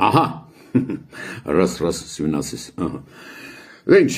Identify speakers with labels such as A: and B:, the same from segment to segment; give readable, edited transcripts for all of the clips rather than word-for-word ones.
A: Ահա, ռաս սյունասիս, Ինչ,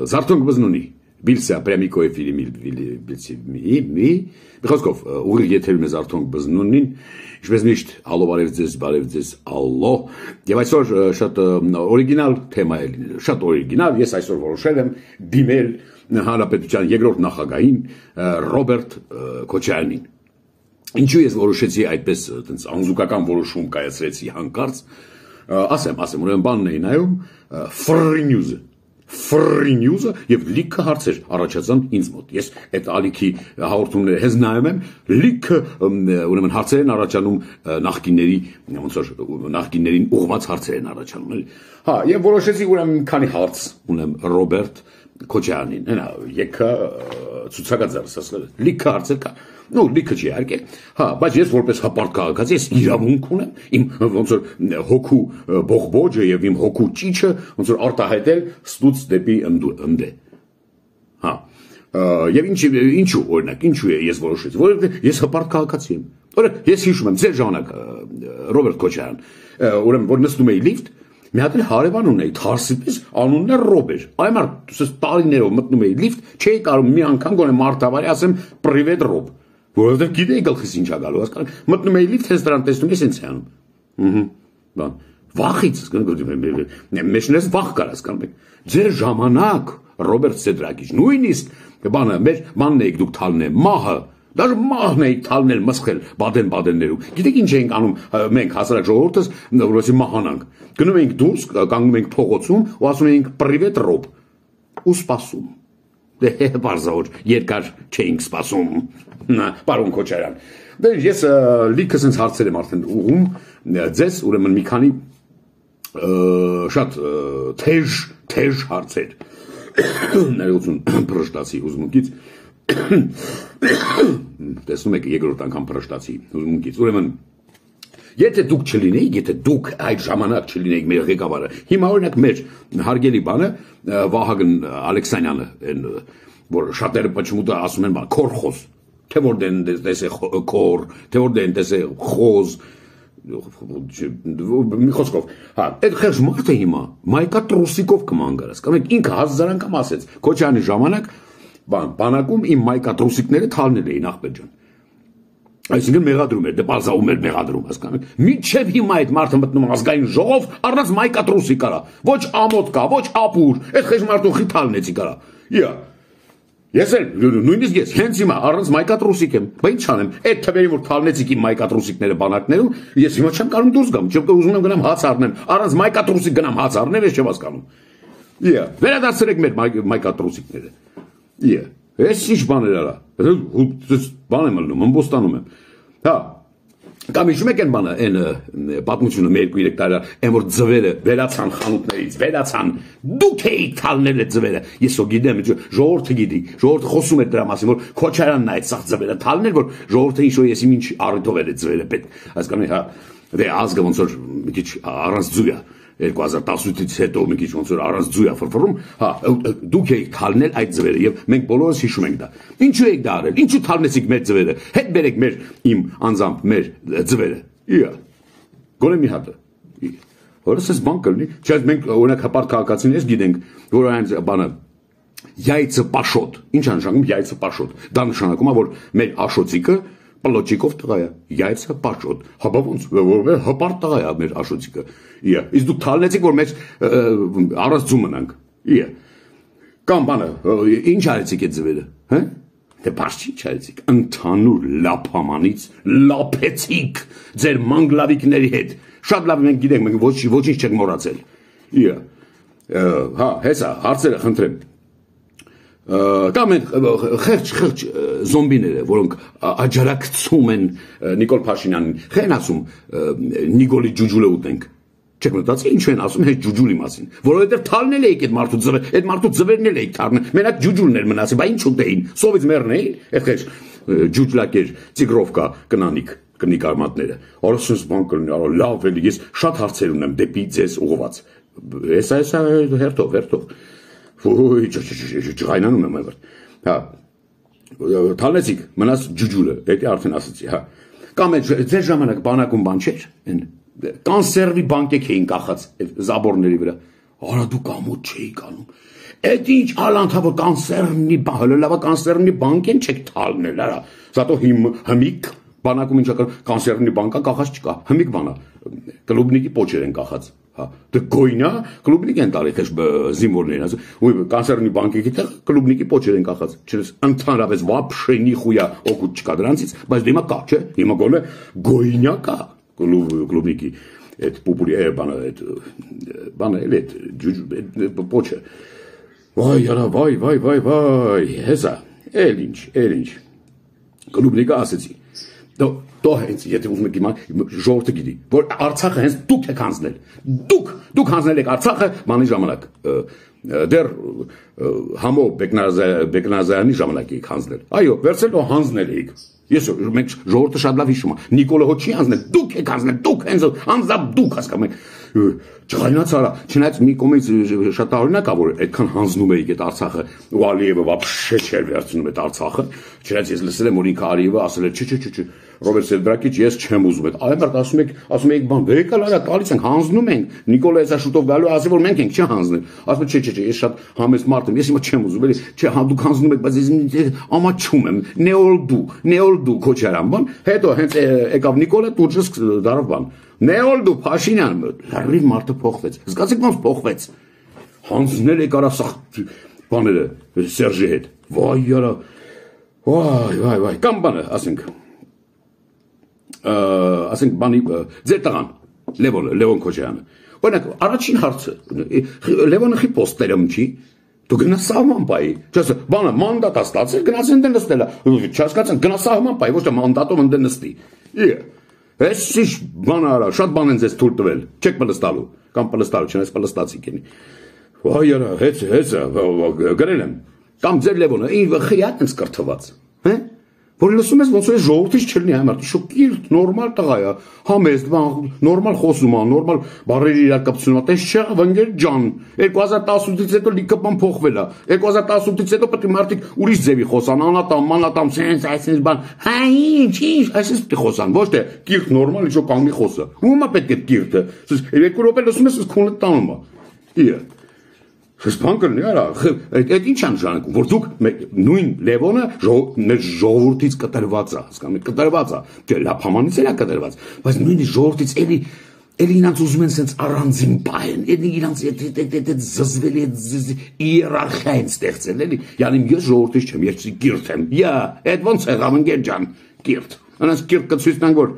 A: զարթոնք բզնունի, բիլսյա, պրեմիկոյ ֆիլիմի, մի, բխոսկով, ուղիղ եթերում է զարթոնք բզնունին, ինչպես միշտ, ալո բարև ձեզ, ալո, և այսօր շատ օրիգինալ թեմա է լինել, շատ օրիգինալ, ես այսօր որոշել եմ դիմել հանրապետության երկրորդ նախագահին Ռոբերտ Քոչարյանին։ Ինչու ես որոշեցի այդպես անզուգական որոշում կայացրեցի հանկարծ, ասեմ, ուրեմն բանն էի նայում, Free News-ը եւ լիքը հարցեր առաջացան ինձ մոտ։ Ես այդ ալիքի հաղորդումները հենց նայում եմ, լիքը ուրեմն հարցեր են առաջանում նախկիններին ուղղված հարցեր են առաջանում, էլի։ Հա, եւ որոշեցի ուրեմն մի քանի հարց ունեմ Ռոբերտ Քոչարյանին, հենա, եկա ցուցակաձարս ասել, լիքը հարցեր կա։ Ну, լիքը չի իհարկե։ Հա, բայց ես որպես հպարտ քաղաքացի ես իրավունք ունեմ իմ ոնց որ հոգու բողբոջը եւ իմ հոգու ճիճը ոնց որ արտահայտել ստուց դեպի ընդե։ Հա։ Եվ ինչու օրինակ, ինչու է ես որոշեցի, որովհետեւ ես հպարտ քաղաքացի եմ։ Օրինակ, ես հիշում եմ ձեր ժամանակ Ռոբերտ Քոչարյան, ուրեմն որ նստում էի լիֆտ, մի հատ հարևան ունեի, Թարսիպես, անունն է Ռոբեր։ Այ մարդ, տարիներով մտնում էի լիֆտ, չէի կարող մի անգամ գոնե մարդավարի ասեմ «Պրիվետ Ռոբ», որովհետև գիտեի գլխիս ինչ ա գալու, հասկանաք, մտնում էի լիֆտ, հենց դրան տեսնում ես ինձ անում։ Բան, վախից, մեջներս վախ կար, հասկանում եք։ Ձեր ժամանակ, Ռոբերտ Սեդրակիչ, նույնիսկ բանը, մեր բանն էիք դուք թալնել, մահը, даже մահն էիք թալնել, մսխել Բադեն-Բադեններում։ Գիտեք ինչ էինք անում մենք հասարակ ժողովուրդս, որովհետև մահանանք։ Գնում էինք դուրս, կանգնում էինք փողոցում ու ասում էինք «Պրիվետ Ռոբ» ու սպասում։ Դե բարձր երկար չէինք սպասում, պարոն Քոչարյան։ Դե ես լիքը sense հարցեր եմ արդեն ուղում ձեզ, ուրեմն մի քանի շատ թեժ հարցեր։ Ներողություն փրշտացի հուզմունքից։ Տեսնում եք երկրորդ անգամ փրշտացի հուզմունքից։ Ուրեմն Եթե դուք չլինեիք, եթե դուք այդ ժամանակ չլինեիք մեր ղեկավարը, հիմա օրինակ մեր հարգելի բանը Վահագն Ալեքսանյանը, որ շատերը почему-то ասում են բան, քորխոզ, թե որ դեն տեսե քոր, թե որ դեն տեսե խոզ, մի խոսքով, հա, այդ խեղճ մարդը հիմա մայկա տրուսիկով կման գարած, կամ ինքը հազար անգամ ասեց, Քոչարյանի ժամանակ բանակում իմ մայկա տրուսիկները թալնել էին ախպետ ջան։ Այսինքն մեղադրում էր, դե բազաում էր մեղադրում, հասկանաք։ Մինչև հիմա այդ մարդը մտնում ազգային ժողով, առանց մայկատրուսի կարա։ Ոչ ամոթ կա, ոչ ապուր, այդ խեղճ մարդուն խիթալնեցի կարա։ Իա։ Ես էլ նույնիսկ ես հենց հիմա առանց մայկատրուսիկ եմ, բա ինչ անեմ։ Այդ թվերին որ թալնեցիք իմ մայկատրուսիկները բանակներում, ես հիմա չեմ կարող դուրս գամ, չեմ ուզում եմ գնամ հաց առնեմ, առանց մայկատրուսիկ գնամ հաց առնեմ, ես չեմ հասկանում։ Իա, վերադարձրեք մեր մայկատրուսիկները։ Իա։ Ես ինչ բաներ արա, բան եմ ալնում, ըմբոստանում եմ, հա, կամ իշում եք են բանը, են պատմությունը մեր 2-3 տարի, են որ ձվերը վերացան խանութներից, վերացան, դուք էիք թալնել այդ ձվերը, ես ո գիտեմ, ժողովուրդը գիտի, ժողովուրդը խոսում է դրա մասին, որ Քոչարյանն այդ սաղ ձվերը թալնել, որ ժողովուրդը ինչ-որ ես ինչ առիթով էր այդ ձվերը պետք, հասկանում եք, հա, դե ազգը ոնց որ մի քիչ առանց ձու է 2018-ից հետո մի քիչ ոնց որ առանց ձու է ֆրֆռում, հա, դուք եք թալնել այդ ձվերը եւ մենք բոլորս հիշում ենք դա։ Ինչու եք դա արել։ Ինչու թալնեցիք մեր ձվերը։ Հետ բերեք մեր իմ անձամբ մեր ձվերը։ Իա։ Գոնե մի հատը։ Որս բան կլինի։ Չէ, մենք օրինակ հպարտ քաղաքացիներից գիտենք, որ այն բանը Яйца пашот։ Ինչ է նշանակում яйца пашот։ Դա նշանակում է որ մեր աշոցիկը Պլոճիկով տղա է, Яйца пашот։ Հապա ոնց որ հպարտ տղա է մեր աշոցիկը։ Իա, իսկ դուք թալնեցիք որ մեջ առանց ձու մնանք։ Իա։ Կամ բանը, ինչ արեցիք այդ ձվերը, հա։ Դե բաց չի չարեցիք, ընդհանուր լափամանից լափեցիք ձեր մանգլավիկների հետ։ Շատ լավ մենք գիտենք, մենք ոչինչ չենք մոռացել։ Իա։ Հա, հեսա, հարցերը խնդրեմ։ Կամ են խեղճ զոմբիները, որոնք աջարակցում են Նիկոլ Փաշինյանին, խեն ասում Նիկոլի ջուջուլը ուտենք։ Չեք մտածի ինչ են ասում հենց ջուջուլի մասին, որովհետև թալնել էիք այդ մարդու ձվերը, այդ մարդու ձվերն էլ էիք թարնել, մենակ ջուջուլն էր մնացել, բա ինչ ուտեին, սովից մեռն էին, այդ խեղճ ջուջլակեր, տիգրովկա կնանիկ կնիկարմատները։ Արոսս բան կլինի, լավ էլի, ես շատ հարցեր ունեմ դեպի ձեզ ուղղված։ Էսա հերթով։ Ոյ, ջղայնանում եմ այվր։ Հա, թալնեցիք, մնաց ջուջուլը, դա արդեն ասացի, հա։ Կամ ձեր ժամանակ բանակում բան չէր, են կանսերվի բանկեք էին կախած զաբորների վրա։ Արա դու կամոթ չէի կանում։ Այդ ինչ ալանթավոր կանսերնի հլլավա կանսերնի բանկեն չեք թալնել, արա։ Զատո հիմիկ բանակում ինչա կանսերնի բանկա կախած չկա։ Հիմիկ բանա։ Կլուբնիկի պոչեր են կախած։ Հա, դե գոյնա կլուբնիկ են տալի քեզ զինվորներին, ու կանսերնի բանկի տեղ կլուբնիկի պոչեր են կախած։ Չես ընդհանրապես вообще нихуя օգուտ չկա դրանցից, բայց դիմա կա, չէ։ Հիմա գոնե գոյնա կա կլուբնիկի այդ պուպուլի բանը էլ այդ պոչը։ Վայ, արա, վայ, հեսա, էլ ինչ, կլուբնիկը ասեցի, դո հենց, եթե ուզում եք իմա, ժողովուրդը գիտի, որ Արցախը հենց դուք եք հանձնել, դուք հանձնել եք Արցախը մանի ժամանակ, դեռ համո Բեկնազարյանի ժամանակ եք հանձնել, այո, վերցել ու հանձնել եք, ես մենք ժողովուրդը շատ լավ հիշում է, Նիկոլը հո չի հանձնել, դուք եք հանձնել, դուք հենց անձամբ դուք հասկանում եք, Չղայնաց արա, չնայած մի կողմից շատ տարօրինակ է, որ այդքան հանձնում էիք այդ Արցախը, ու Ալիևը вообще չէր վերցնում այդ Արցախը, չնայած ես լսել եմ, որ ինքը Ալիևը ասել է, չէ, Ռոբերտ Սերբրակիչ, ես չեմ ուզում այդ, այմարդ ասում եք բան, եկալ արա, տալիս ենք, հանձնում ենք, Նիկոլը հեսա շուտով գալու ասի, որ մենք ենք, չի հանձնել, ասում է, չէ, ես շատ համեստ մարդ եմ, ես հիմա չեմ ուզում, էլի, չէ, դուք հանձնում եք, բայց ես ամաչում եմ, նեոլդու քոչարան, բան, հետո հենց եկավ Նիկոլը, տուրջս դարավ բան, Նեոլդու Փաշինյան, լրիվ մարդը փոխվեց, զգացիք ոնց փոխվեց, հանձնել եք արա սաղ բաները Սերժի հետ, վայ արա, վայ, կամ բանը, ասենք բանի, ձեր տղան, Լևոն Քոչարյանը, օրինակ, առաջին հարցը, Լևոնը խի պոստերում չի, դու գնա սահման պայի, չասը, բանը մանդատ աստացել, գնաց ընդեն նստելա, չասկացան, գնա սահման պայի, ոչ թե մանդատով ընդեն նստի, Ես ինչ բան արա, շատ բան են ձեզ թույլ տվել, չեք պլստալու, կամ պլստալու, չնայած պլստացիք ენი, վայ արա, հեցը, գրել եմ, կամ ձեր Լևոնը, խիատ ենք կրթված, որ լսում ես ոնց որ ժողովրդից չլինի համարտ, շոկիրտ, նորմալ տղա է, համեստ, նորմալ խոսում է, նորմալ բառերի իրակապցնում է, տես չէ, վնգեր ջան, 2018-ից հետո լիքը բան փոխվել է, 2018-ից հետո պետք է մարդիկ ուրիշ ձևի խոսան, անատամ, մանատամ, սենց, այսպես բան, հա ինչ, այսպես պետք է խոսան, ոչ թե կիրթ նորմալ ինչ-որ կանգնի խոսը, ում է պետք է կիրթը, 2 րոպե լսում ես, քունը տանում է, Ես բան կլինի արա, այդ ինչ անժանակում, որ դուք նույն Լևոնը մեր ժողովրդից կտրված է, հասկանում եք, կտրված է, չէ, լափամանից էլ է կտրված, բայց նույնիսկ ժողովրդից էլի իրանց ուզում են սենց առանձին պահեն, էլի իրանց այդ զզվելի իերարխիա են ստեղծել, էլի, յանի ես ժողովրդից չեմ, ես կիրթ եմ, այդ ոնց եղավ ընկեր ջան, կիրթ, անց կիրթ կցույց տանք, որ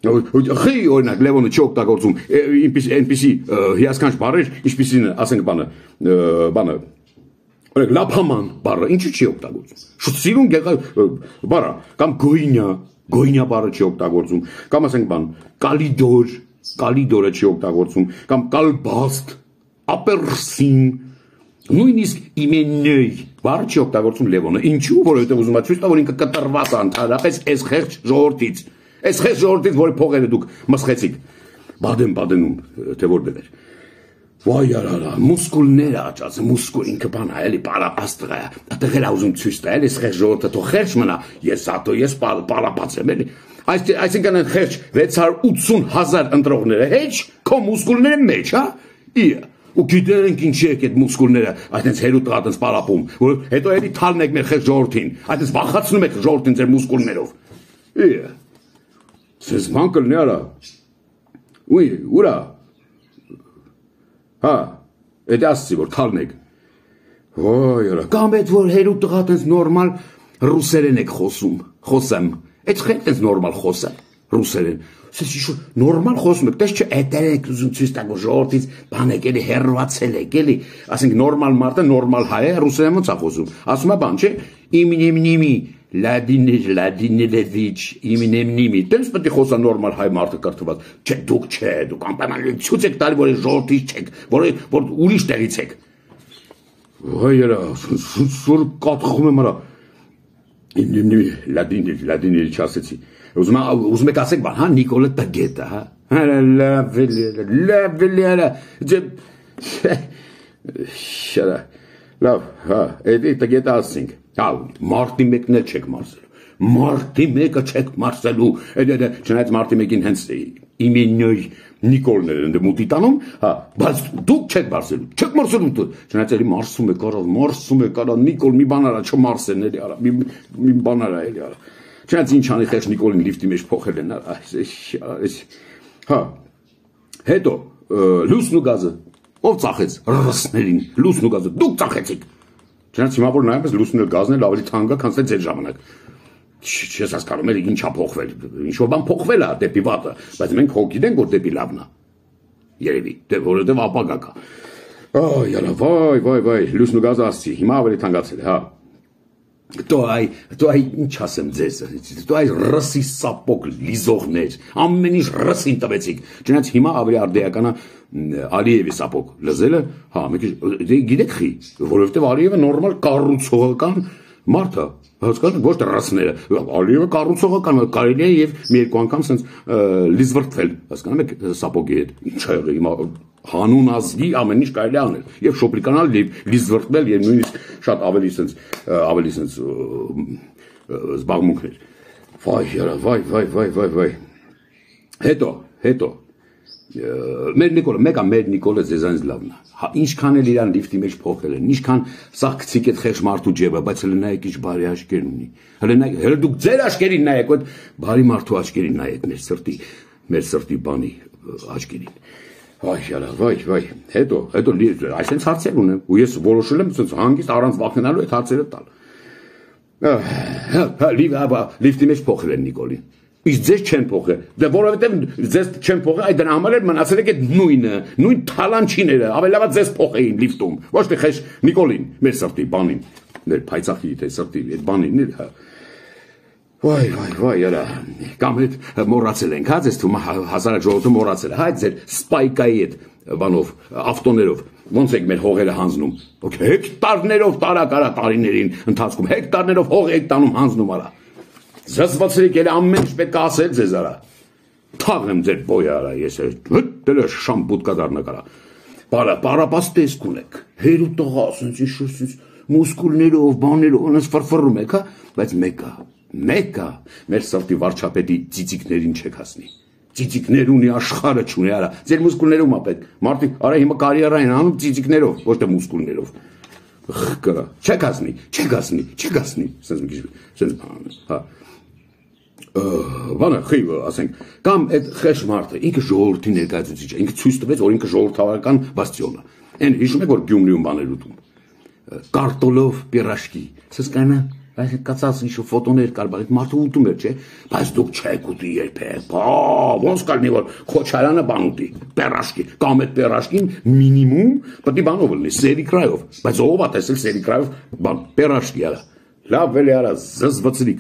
A: Խի օրինակ Լևոնը չի օգտագործում այնպիսի հիասքանչ բառեր, ինչպիսին ասենք բանը օրինակ լափաման բառը ինչու չի օգտագործում։ Շուտ սիրուն բառը կամ գոյնյա բառը չի օգտագործում, կամ ասենք բան կալիդորը չի օգտագործում, կամ կալբաստ, ապերսին, նույնիսկ իմեննեյ բառը չի օգտագործում Լևոնը։ Ինչու, որովհետև ուզում է ցույց տա, որ ինքը կտրված է ընդհանրապես այս խեղճ ժողովրդից։ Այս խես ժողովրդից, որի փողերը դուք մսխեցիք, բադեն-բադենում, թե որտեղ էր, վայ արա, մուսկուլները աճած, մուսկուլ ինքը բան է, էլի պարապաստղ է, այդտեղ էլ ուզում ցույց տա, էլի խես ժողովրդը թող խերճ մնա, ես պարապած եմ, էլի, այսինքն են խերճ 680,000 ընտրողները, հեչ, քո մուսկուլները մեջ, հա, ու գիտենք ինչի եք այդ մուսկուլները, այդպես հերու տղատենց պարապում, որ հետո էլի թալն եք մեր խես ժողովրդին, այդպես վախացնում եք ժողովրդին ձեր մուսկուլներով, Սենց բան կլնի արա, ուրա, հա, էդ ասցի, որ թալնեք, ոյ արա, կամ էդ որ հերու տղատ ենց նորմալ ռուսերեն եք խոսեմ, էդ խենք ենց նորմալ խոսեմ, ռուսերեն, սենց իշու նորմալ խոսում եք, տես չէ էտեր եք ուզում ցույց տակ, որ ժողովրդից բան եք էլի հեռվացել եք, էլի, ասենք նորմալ մարդը նորմալ հայ է, ռուսերեն ոնց է խոսում, ասում է բան, չէ, իմինիմնիմի, Լադինելևիչ, իմինեմնիմի, տենց պետք է խոսա նորմալ հայ մարդը կրթված, դուք անպայման ցույց եք տալի, որ ժողովրդից չեք, որ ուրիշ տեղից եք։ Վայ արա, սուր կատխում եմ արա։ Լադինելի չասեցի։ Ուզում եք ասեք բան, հա, Նիկոլը տգետ է, հա։ Լավ, արա, շարա, լավ, հա, էդի տգետ ասենք։ Հա, մարդի մեկն էլ չեք մարսել, Մարտի մեկը չեք մարսելու, չնայած մարտի մեկին հենց իմենյոյ Նիկոլներ են մուտի տանում, հա, բայց դուք չեք մարսելու, չեք մարսելու, չնայած էլի մարսում եք արա, Նիկոլ մի բան արա, չմարսեն էլի արա, մի բան արա էլի արա, չնայած ինչ անի խեղճ Նիկոլին լիֆտի մեջ փոխել են, հա, հետո լուսն ու գազը, ով ծախեց ռսներին, լուսն ու գազը, դուք ծախեցիք, չնայած հիմա որ նայում ես լուսն ու գազն էլ ավելի թանկ է, քան ձեր ժամանակ Չես հասկանում էլ ինչա փոխվել, ինչ-որ բան փոխվել է դեպի վատը, բայց մենք հո գիտենք, որ դեպի լավն է, երևի, որովհետև ապագա կա, վայ, լուսն ու գազը ասցի, հիմա ավելի թանկացել է, հա, դու այ ինչ ասեմ ձեզ, դու այ ռսի սապոկ լիզողներ, ամեն ինչ ռսին տվեցիք, չնայած հիմա ավելի արդեական է Ալիևի սապոկ լզելը, հա, գիտեք խի, որովհետև Ալիևը նորմալ կառուցողական մարդ է, հասկանում ոչ թե ռասները, Ալիևը կառուցողական կարելի է եւ մի երկու անգամ sense լիզվրտվել, հասկանում եք սապոգի հետ, ինչ ա եղել հիմա հանուն ազգի ամեն ինչ կարելի է անել եւ շոպլիկանալ լիզվրտվել եւ նույնիսկ շատ ավելի sense զբաղմունքներ վայ հետո մեր Նիկոլը ձեզանից լավն է ինչքան էլ իրան լիֆտի մեջ փոխել են ինչքան սա գցիկ այդ խեղճ մարդու ջեբը բայց հələ նայեք ինչ բարի աչքեր ունի հələ դուք ձեր աչքերին նայեք այդ բարի մարդու աչքերին նայեք մեր սրտի բանի աչքերին վայ հետո այսպես հարցեր ունեմ ու ես որոշել եմ հանգիստ առանց վախենալու այդ հարցերը տալ լիֆտի մեջ փոխել են Նիկոլին Իսկ ձեզ չեն փոխել, դե որովհետև ձեզ չեն փոխել, այդ դրա համար էլ մնացել եք այդ նույն թալանչիները, ավելի լավ ձեզ փոխեին լիֆտում, ոչ թե խես Նիկոլին, մեր սրտի բանին, մեր փայծախի թե սրտի այդ բանին, հա։ Վայ, արա, կամ հետ մոռացել ենք, հա, ձեզ թվում հասարակ ժողովուրդը մոռացել է, հա, ձեր սպայկայի այդ բանով, ավտոներով, ոնց եք մեր հողերը հանձնում, հեկտարներով տարակարա տարիներին ընթացքում, հեկտարներով հող եք տանում հանձնում արա Զզվացրիք էլ ամեն ինչ պետք է ասել ձեզ արա թաղեմ ձեր բոյը արա ես դել է շամպուտկա դառնակ արա պարապաս տեսք ունեք հերու տղա ասենց ինչ մուսկուլներով բաներով անց ֆրֆռում եք հա բայց մեկը մեր սրտի վարչապետի ծիծիկներին չեք հասնի ծիծիկներ ունի աշխարհը չունի արա ձեր մուսկուլներում ա պետք մարդիկ արա հիմա կարիերա են անում ծիծիկներով ոչ թե մուսկուլներով Կրա, չեք ասնի, սենց հա Բանը խիվը, ասենք, կամ այդ խեշ մարդը, ինքը ժողովրդի ներկայացուցիչ է, ինքը ցույց տվեց, որ ինքը ժողովրդավարական բաստիոն է։ Այն հիշում եք, որ Գյումրիում բաներ ուտում։ Կարտոլով, պիրաշկի, սսկանա, այս կացած ինչ ֆոտոներ կար, բայց մարդը ուտում էր, չէ, բայց դուք չեք ուտի երբեք։ Ոնց կլինի, որ Խոչարյանը բան ուտի, պիրաշկի, կամ այդ պիրաշկին մինիմում պետք է բանով լինի, սերիկրայով, բայց ով է տեսել սերիկրայով բան, պիրաշկի արա։ Լավ էլի արա, զզվցրի